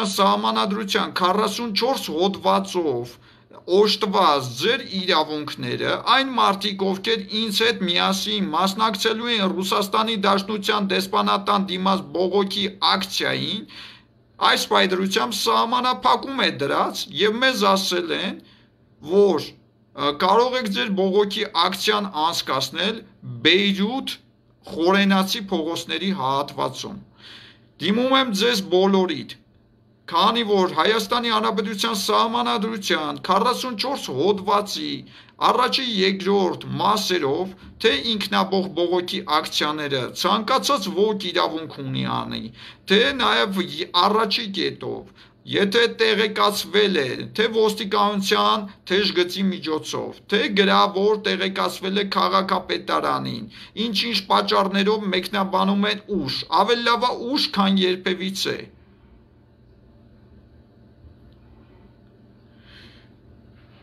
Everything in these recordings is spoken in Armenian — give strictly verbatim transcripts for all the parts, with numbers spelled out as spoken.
Հանրապետության Սահմանադրության քառասունչորս հոդվածով օժտված ձեր իրավունքները, այն մարդիկ, ովքեր ինձ հետ միասին մասնակցելու են Ռուսաստանի Դաշնության դեսպանատան դիմաց բողոքի ակցիային, այս պայծառությամբ սահմանափակում է դրած եւ մեզ ասել են, որ կարող եք ձեր բողոքի ակցիան անցկացնել Բեյրութ խորենացի փողոցների հատվածում։ Դիմում եմ ձեզ բոլորիդ, քանի որ Հայաստանի Հանրապետության Սահմանադրության քառասունչորս հոդվածի առաջի երկրորդ մասերով, թե ինքնաբող բողոքի ակցիաները ցանկացած ոք իրավունք ունի անի, թե նաև առաջի կետով, եթե տեղեկացվել է, թե ոստիկանության թեժգծի միջոցով, թե գրավոր տեղեկացվել է քաղաքապետարանին, ինչ-ինչ պատճառներով մեկնաբանում են ուշ, ավելի լավ է ուշ, քան երբևիցե։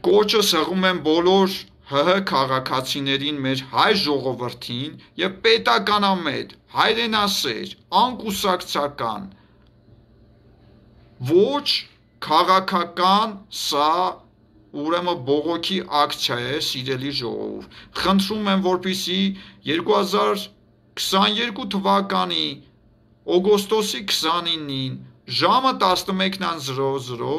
Կոչս հղում եմ բոլոր ՀՀ քաղաքացիներին, մեր հայ ժողովրդին եւ պետականամետ, հայրենասեր, անկուսակցական, ոչ քաղաքական, սա ուրեմն բողոքի ակցիա է, սիրելի ժողով։ Խնդրում եմ, որպեսզի երկու հազար քսաներկու թվականի օգոստոսի քսանինին ժամը տասնմեկն զրո զրո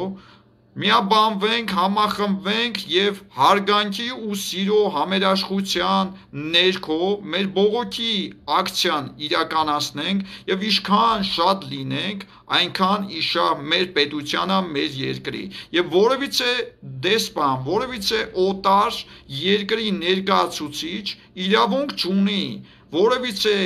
միաբանվենք, համախմբվենք եւ հարգանքի ու սիրո համերաշխության ներքո մեր բողոքի ակցիան իրականացնենք եւ ինչքան շատ լինենք, այնքան իշահ մեր պետությանը, մեր երկրի եւ որևիցե դեսպան, որևիցե օտար երկրի ներկայացուցիչ իրավունք չունի որևիցե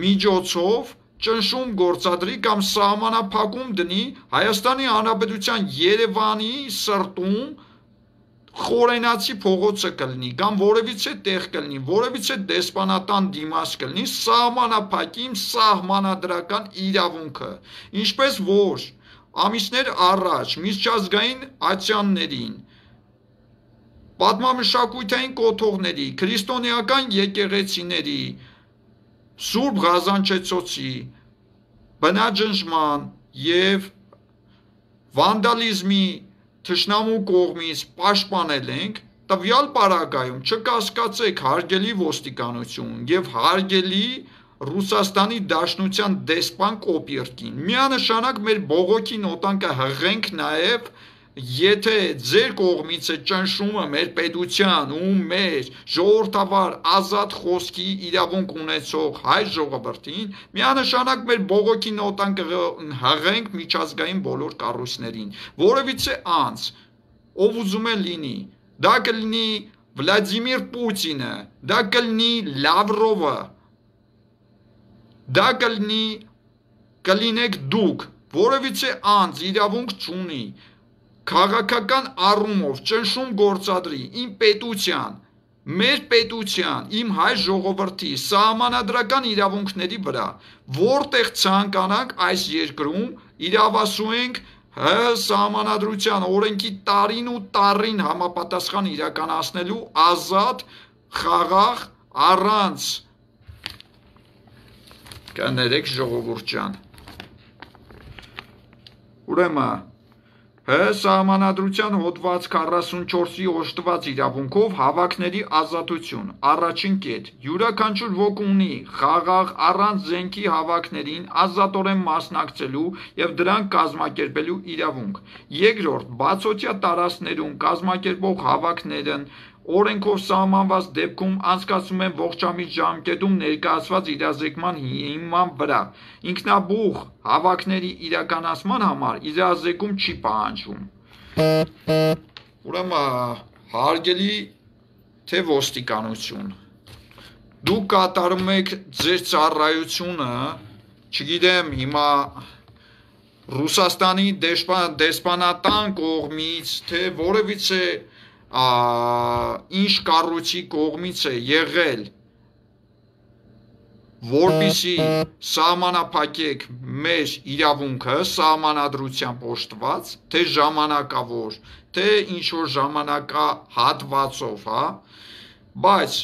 միջոցով ճնշում գործադրի կամ սահմանափակում դնի Հայաստանի Հանրապետության Երևանի սրտում խորենացի փողոցը կլինի կամ որևիցե տեղ կլինի, որևիցե դեսպանատան դիմաց կլինի, սահմանափակիմ սահմանադրական իրավունքը, ինչպես որ ամիսներ առաջ միջազգային ատյաններին, պատմամշակութային կոթողների, քրիստոնեական եկեղեցիների, Սուրբ Ղազանչեցոցի բնաջնջման եւ վանդալիզմի թշնամու կողմից պաշտպանել ենք, տվյալ պարագայում չկասկածեք հարգելի ոստիկանություն եւ հարգելի Ռուսաստանի Դաշնության դեսպան Կոպիրկին, միանշանակ մեր բողոքի նոտանկը հղենք նաեւ եթե ձեր կողմից է ճնշումը մեր պետության ու մեր ժողովրդավար ազատ խոսքի իրավունք ունեցող հայ ժողովրդին, միանշանակ մեր բողոքի նոտանկը հղենք միջազգային բոլոր կառույցներին, որևիցե անձ, ով ուզում է լինի, դա կլինի Վլադիմիր Պուտինը, դա կլինի Լավրովը, դա կլինի կլինեք դուք, որևիցե անձ իրավունք չունի քաղաքական առումով ճնշում գործադրի իմ պետության, մեր պետության, իմ հայ ժողովրդի սահմանադրական իրավունքների վրա, որտեղ ցանկանանք այս երկրում իրավասու ենք ՀՀ սահմանադրության օրենքի տարին ու տարին համապատասխան իրականացնելու ազատ, խաղաղ, առանց կներեք ժողովուրդ ջան։ Ուրեմն ՀՀ սահմանադրության հոդված քառասունչորսի օժտված իրավունքով հավաքների ազատություն, առաջին կետ, յուրաքանչյուր ոք ունի խաղաղ առանց զենքի հավաքներին ազատորեն մասնակցելու եւ դրանք կազմակերպելու իրավունք, երկրորդ, բացօթյա տարածքներում կազմակերպող հավաքներն օրենքով սահմանված դեպքում անցկացվում են ողջամիտ ժամկետում ներկայացված իրազեկման հիման վրա, ինքնաբուխ հավաքների իրականացման համար իրազեկում չի պահանջվում։ Ուրեմն հարգելի թե ոստիկանություն, դուք կատարում եք ձեր ծառայությունը, չգիտեմ հիմա Ռուսաստանի դեսպանատան կողմից, թե որևիցե ինչ կառույցի կողմից է եղել, որպեսզի սահմանափակեք մեր իրավունքը սահմանադրությամբ օժտված, թե ժամանակավոր, թե ինչ-որ ժամանակահատվածով, հա, բայց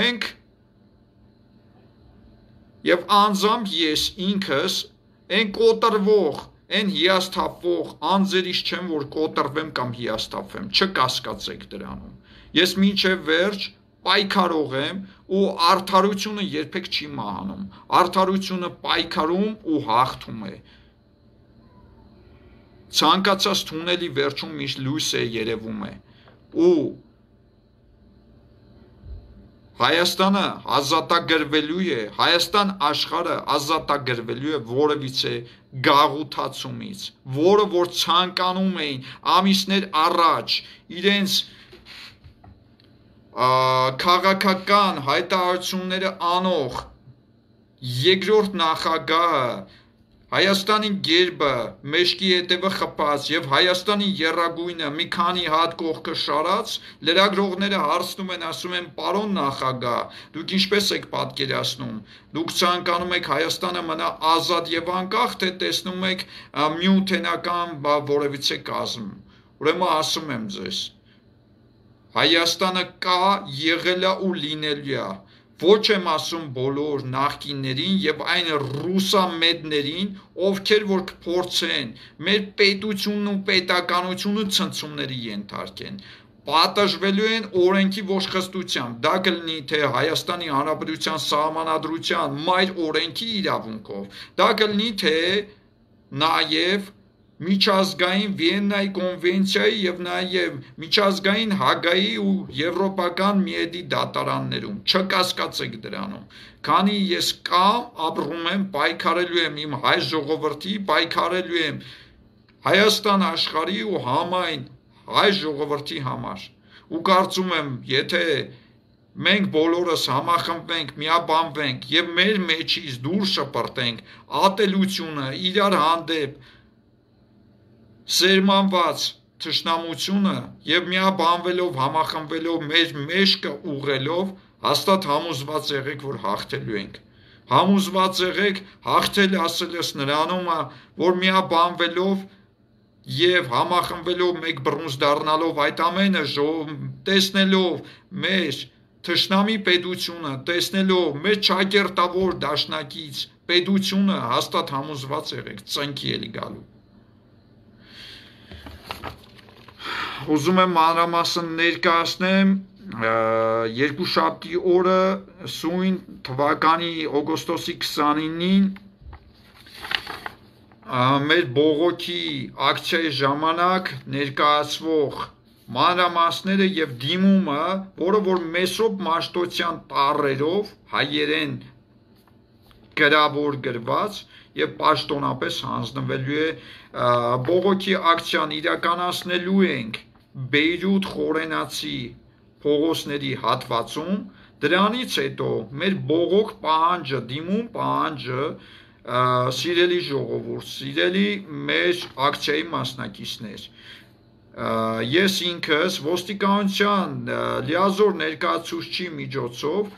մենք եւ անձամբ ես ինքս այն կոտրվող, այն հիասթափվող անձերից չեմ, որ կոտրվեմ կամ հիասթափվեմ, չկասկածեք դրանում։ Ես մինչև վերջ պայքարող եմ ու արդարությունը երբեք չի մահանում։ Արդարությունը պայքարում ու հաղթում է։ Ցանկացած թունելի վերջում միշտ լույս է երևում է։ Ու Հայաստանը ազատագրվելու է, Հայաստան աշխարհը ազատագրվելու է որևիցե գաղութացումից, որը որ ցանկանում էին ամիսներ առաջ իրենց քաղաքական հայտարարությունները անող երկրորդ նախագահը Հայաստանի գերբը մեջքի հետևը խփած եւ Հայաստանի եռագույնը մի քանի հատ կողքը շարած լրագրողները հարցնում են, ասում են պարոն նախագահ, դուք ինչպես եք պատկերացնում, դուք ցանկանում եք Հայաստանը մնա ազատ եւ անկախ, թե տեսնում եք միութենական որևիցե կազմ։ Ուրեմն ասում եմ ձեզ, Հայաստանը կա, եղել է ու լինելու է։ Ոչ եմ ասում բոլոր նախկիններին եւ այն ռուսամետներին, ովքեր որ կփորձեն մեր պետությունն ու պետականությունը ցնցումների ենթարկեն, պատժվելու են օրենքի ոչխստությամբ, դա կլինի թե Հայաստանի Հանրապետության սահմանադրության մայր օրենքի իրավունքով, դա կլինի թե նաեւ միջազգային Վիեննայի կոնվենցիայի եւ նաեւ միջազգային Հագայի ու եվրոպական միեդի դատարաններում, չկասկածեք դրանում, քանի ես կամ ապրում եմ, պայքարելու եմ իմ հայ ժողովրդի, պայքարելու եմ Հայաստան աշխարհի ու համայն հայ ժողովրդի համար, ու կարծում եմ, եթե մենք բոլորս համախմբվենք, միաբանվենք եւ մեր մեջից դուրս շպրտենք ատելությունը, իրար հանդեպ սերմանված թշնամությունը եւ միաբանվելով, համախմբվելով մեր մեջքը ուղղելով, հաստատ համոզված եղեք, որ հաղթելու ենք։ Համոզված եղեք, հաղթել ասելս նրանում է, որ միաբանվելով եւ համախմբվելով մեկ բռունց դառնալով այդ ամենը տեսնելով մեր թշնամի պետությունը, տեսնելով մեր ճակերտավոր դաշնակից պետությունը, հաստատ համոզված եղեք, ծնկի էլի գալու։ Ուզում եմ մանրամասն ներկայացնեմ երկուշաբթի օրը սույն թվականի օգոստոսի քսանինին մեր բողոքի ակցիայի ժամանակ ներկայացվող մանրամասները եւ դիմումը, որը որ Մեսրոպ Մաշտոցյան տառերով հայերեն գրավոր գրված եւ պաշտոնապես հանձնվելու է բողոքի ակցիան իրականացնելու ենք Բեյրութ խորենացի փողոցների հատվածում, դրանից հետո մեր բողոք պահանջը, դիմում պահանջը, սիրելի ժողովուրդ, սիրելի մեր ակցիայի մասնակիցներ, ես ինքս ոստիկանության լիազոր ներկայացուցչի միջոցով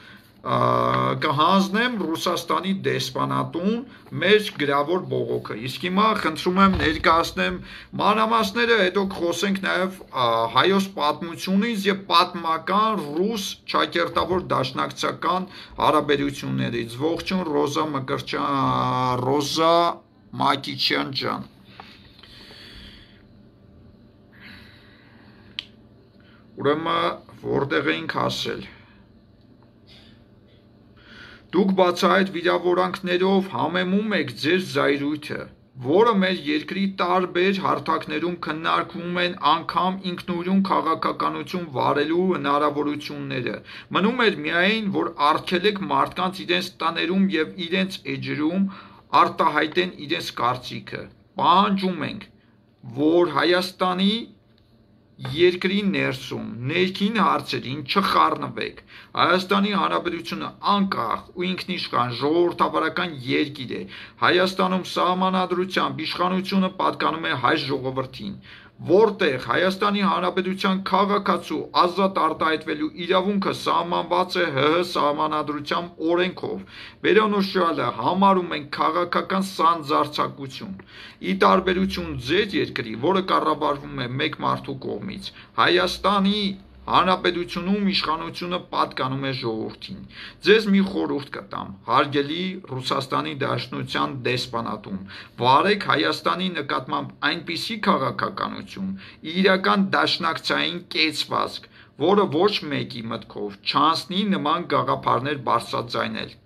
կհանձնեմ Ռուսաստանի դեսպանատուն մեր գրավոր բողոքը։ Իսկ հիմա խնդրում եմ ներկայացնեմ մանրամասները, հետո կխոսենք նաև հայոց պատմությունից եւ պատմական ռուս ճակերտավոր դաշնակցական հարաբերություններից։ Ողջույն Ռոզա Մկրտչյան, Ռոզա Մակիչյան ջան։ Ուրեմն որտեղ էինք հասել։ Դուք բացահայտ վիրավորանքներով համեմում եք ձեր զայրույթը, որը մեր երկրի տարբեր հարթակներում քննարկվում են անգամ ինքնուրույն քաղաքականություն վարելու հնարավորությունները։ Մնում էր միայն, որ արգելեք մարդկանց իրենց տաներում եւ իրենց էջերում արտահայտեն իրենց կարծիքը։ Պահանջում ենք, որ Հայաստանի երկրի ներսում ներքին հարցերին չխառնվեք։ Հայաստանի Հանրապետությունը անկախ ու ինքնիշխան ժողովրդավարական երկիր է։ Հայաստանում սահմանադրությամբ իշխանությունը պատկանում է հայ ժողովրդին, որտեղ Հայաստանի Հանրապետության քաղաքացու ազատ արտահայտվելու իրավունքը սահմանված է ՀՀ սահմանադրությամբ օրենքով։ Վերոնոշյալը համարում են քաղաքական սանձարձակություն։ Ի տարբերություն ձեր երկրի, որը կառավարվում է մեկ մարդու կողմից, Հայաստանի Հանրապետությունում իշխանությունը պատկանում է ժողովրդին։ Ձեզ մի խորհուրդ կտամ, հարգելի Ռուսաստանի Դաշնության դեսպանատում, վարեք Հայաստանի նկատմամբ այնպիսի քաղաքականություն, իրական դաշնակցային կեցվածք, որը ոչ մեկի մտքով չանցնի նման գաղափարներ բարձրաձայնել։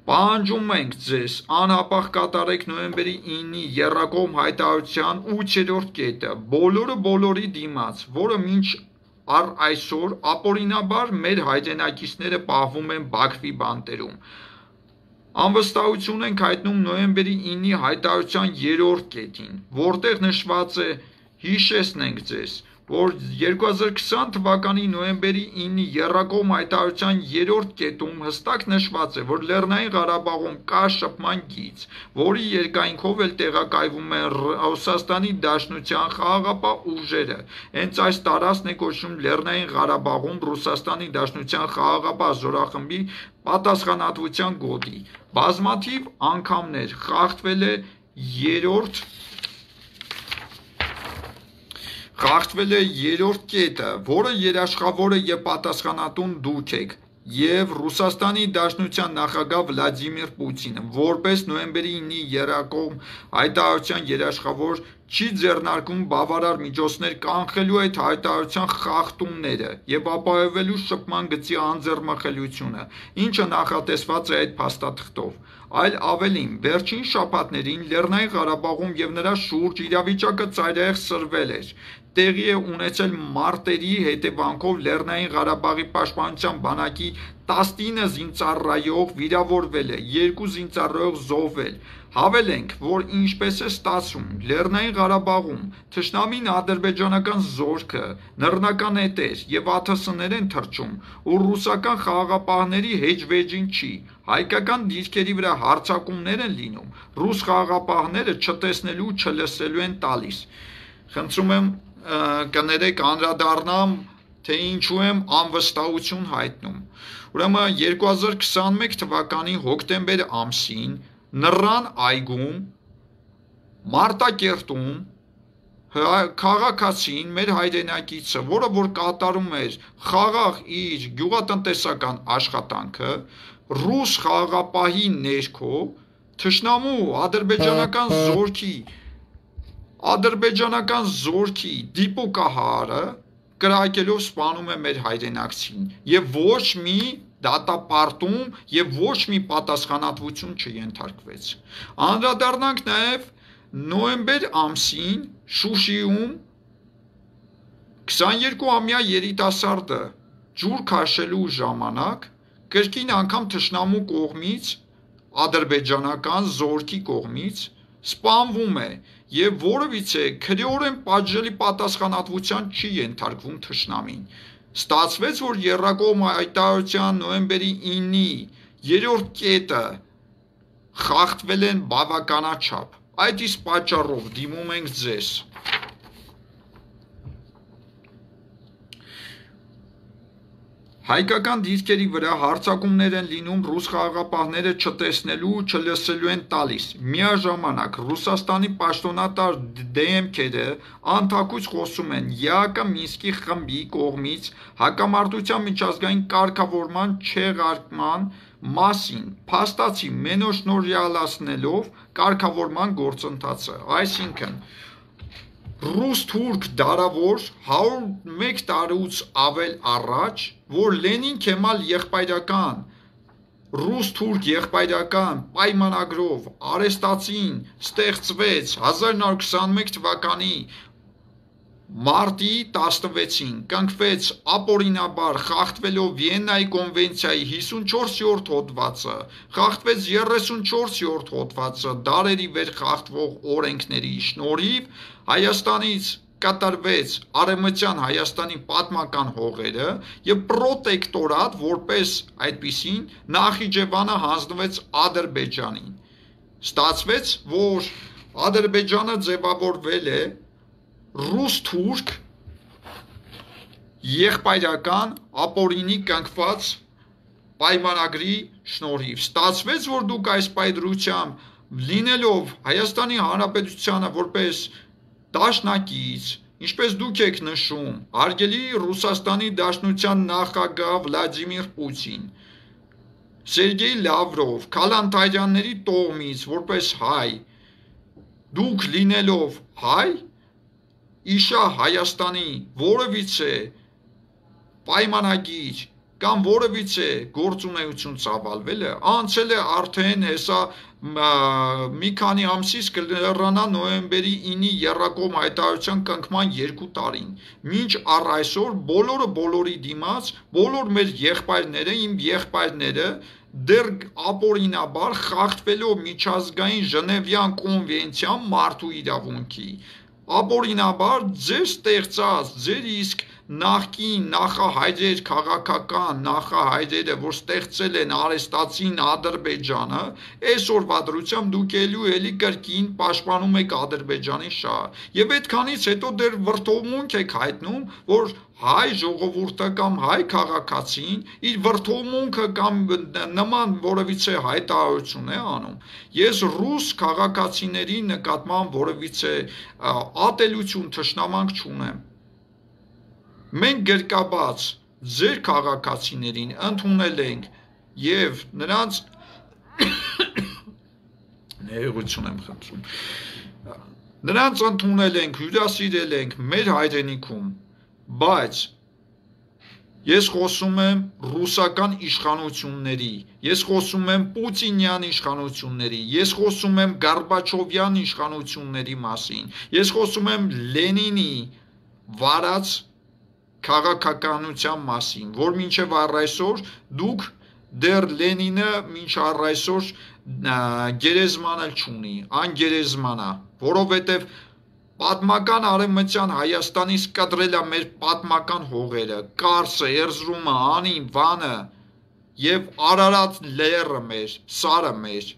Պահանջում ենք ձեզ անհապաղ կատարեք նոյեմբերի ինի եռակողմ հայտարարության ութերորդ կետը, բոլորը բոլորի դիմաց, որը մինչ առ այսօր ապօրինաբար մեր հայրենակիցները պահվում են Բաքվի բանտերում։ Անվստահություն ենք հայտնում նոյեմբերի ինի հայտարարության երրորդ կետին, որտեղ նշված է, հիշեցնենք ձեզ, որ երկու հազար քսան թվականի նոյեմբերի ինի եռակողմ հայտարարության երրորդ կետում հստակ նշված է, որ Լեռնային Ղարաբաղում կա շփման գիծ, որի երկայնքով էլ տեղակայվում են Ռուսաստանի Դաշնության խաղաղապահ ուժերը։ Հենց այս տարածքն է կոչվում Լեռնային Ղարաբաղում Ռուսաստանի Դաշնության խաղաղապահ զորախմբի պատասխանատվության գոտի։ Բազմաթիվ անգամներ խախտվել է երրորդ Խախտվել է երրորդ կետը, որը երաշխավորը եւ պատասխանատուն դուք եք, եւ Ռուսաստանի Դաշնության նախագահ Վլադիմիր Պուտինը, որպես նոյեմբերի ինի եռակողմ հայտարարության երաշխավոր չի ձեռնարկում բավարար միջոցներ կանխելու այդ հայտարարության խախտումները եւ ապահովելու շփման գծի անձեռնմխելիությունը, ինչը նախատեսված է այդ փաստաթղթով։ Այլ ավելին, վերջին շաբաթներին Լեռնային Ղարաբաղում եւ նրա շուրջ իրավիճակը ծայրահեղ սրվել էր։ Տեղի է ունեցել մարտերի հետևանքով Լեռնային Ղարաբաղի պաշտպանության բանակի տասնինը զինծառայող վիրավորվել է, երկու զինծառայող զոհվել։ Հավելենք, որ ինչպես է ստացվում, Լեռնային Ղարաբաղում թշնամին ադրբեջանական զորքը, նռնական էտեր եւ ԱԹՍ-ներ են թռչում, ու ռուսական խաղաղապահների հեջվեջին չի, հայկական դիրքերի վրա հարձակումներ են լինում, ռուս խաղաղապահները չտեսնելու, չլսելու են տալիս։ Խնդրում եմ կներեք անդրադառնամ, թե ինչու եմ անվստահություն հայտնում։ Ուրեմն երկու հազար քսանմեկ թվականի հոկտեմբեր ամսին Նռան այգում Մարտակերտում քաղաքացին մեր հայրենակիցը, որը որ կատարում էր խաղաղ իր գյուղատնտեսական աշխատանքը, ռուս խաղաղապահի ներքո թշնամու ադրբեջանական զորքի ադրբեջանական զորքի դիպուկահարը կրակելով սպանում է մեր հայրենակցին եւ ոչ մի դատապարտում եւ ոչ մի պատասխանատվություն չենթարկվեց։ Անդրադառնանք նաեւ նոյեմբեր ամսին Շուշիում քսաներկուամյա երիտասարդը ջուր քաշելու ժամանակ կրկին անգամ թշնամու կողմից ադրբեջանական զորքի կողմից սպանվում է եւ որևիցե քրեորեն պատժելի պատասխանատվության չի ենթարկվում թշնամին։ Ստացվեց, որ եռակողմ հայտարարության նոյեմբերի ինի երրորդ կետը խախտվել են բավականաչափ։ Այդ իսկ պատճառով դիմում ենք ձեզ։ Հայկական դիրքերի վրա հարձակումներ են լինում, ռուս խաղաղապահները չտեսնելու, չլսելու են տալիս։ Միաժամանակ Ռուսաստանի պաշտոնատար դեմքերը անթակույց խոսում են ԵԱԿ Մինսկի խմբի կողմից հակամարտության միջազգային կարգավորման չեղարկման մասին, փաստացի մենաշնորհյալացնելով կարգավորման գործընթացը, այսինքն ռուս-թուրք դարավոր հարյուր ու մեկ տարուց ավել առաջ, որ Լենին Քեմալ եղբայրական ռուս-թուրք եղբայրական պայմանագրով արեստացին ստեղծվեց հազար նոր քսանմեկ թվականի մարտի տասնվեցին, կնքվեց ապօրինաբար խախտվելով Վիեննայի կոնվենցիայի հիսունչորսերորդ հոդվածը, խախտվեց երեսունչորսերորդ հոդվածը, դարերի վեր խախտվող օրենքների շնորհիվ Հայաստանից կատարվեց Արևմտյան Հայաստանի պատմական հողերը եւ պրոտեկտորատ որպես այդպիսին Նախիջևանը հանձնվեց Ադրբեջանին։ Ստացվեց, որ Ադրբեջանը ձևավորվել է ռուս-թուրք եղբայրական ապօրինի կնքված պայմանագրի շնորհիվ։ Ստացվեց, որ դուք այս պայծրությամբ լինելով Հայաստանի Հանրապետությանը որպես դաշնակից, Ինչպես դուք եք նշում, հարգելի Ռուսաստանի Դաշնության նախագահ Վլադիմիր Պուտին, Սերգեյ Լավրով, Քալանթարյանների տոհմից որպես հայ, դուք լինելով հայ, իշա Հայաստանի որևիցե պայմանագիր կամ որևիցե գործունեություն ծավալվել է, անցել է արդեն հեսա մի քանի ամսից կլրանա նոյեմբերի ինի եռակողմ հայտարարության կնքման երկու տարին, մինչ առ այսօր բոլորը բոլորի դիմաց, բոլոր մեր եղբայրները, իմ եղբայրները դեռ ապօրինաբար խախտվելով միջազգային Ժնևյան կոնվենցիան մարդու իրավունքի, ապօրինաբար ձեր ստեղծած, ձեր իսկ նախկին նախահայրեր, քաղաքական նախահայրերը, որ ստեղծել են արեստացին Ադրբեջանը, այսօրվա դրությամբ դուք ելու էլի կրկին պաշտպանում եք Ադրբեջանի շահը։ Եվ այդքանից հետո դեռ վրդովմունք եք հայտնում, որ հայ ժողովուրդը կամ հայ քաղաքացին իր վրդովմունքը կամ նման որևիցե հայտարարություն է անում։ Ես ռուս քաղաքացիների նկատմամբ որևիցե ատելություն, թշնամանք չունեմ։ Մենք գրկաբաց ձեր քաղաքացիներին ընդունել ենք եւ նրանց ներողություն եմ խնդրում։ Նրանց ընդունել ենք, հյուրասիրել ենք մեր հայրենիքում, բայց ես խոսում եմ ռուսական իշխանությունների, ես խոսում եմ Պուտինյան իշխանությունների, ես խոսում եմ Գորբաչովյան իշխանությունների մասին, ես խոսում եմ Լենինի վարած քաղաքականության մասին, որ մինչև առ այսօր դուք դեռ Լենինը մինչ առ այսօր գերեզման էլ չունի, անգերեզմանա, որովհետև պատմական արևմտյան Հայաստանից կտրել է մեր պատմական հողերը, Կարսը, Էրզրումը, Անին, Վանը եւ Արարատ լեռը մեր, Սարը մեր,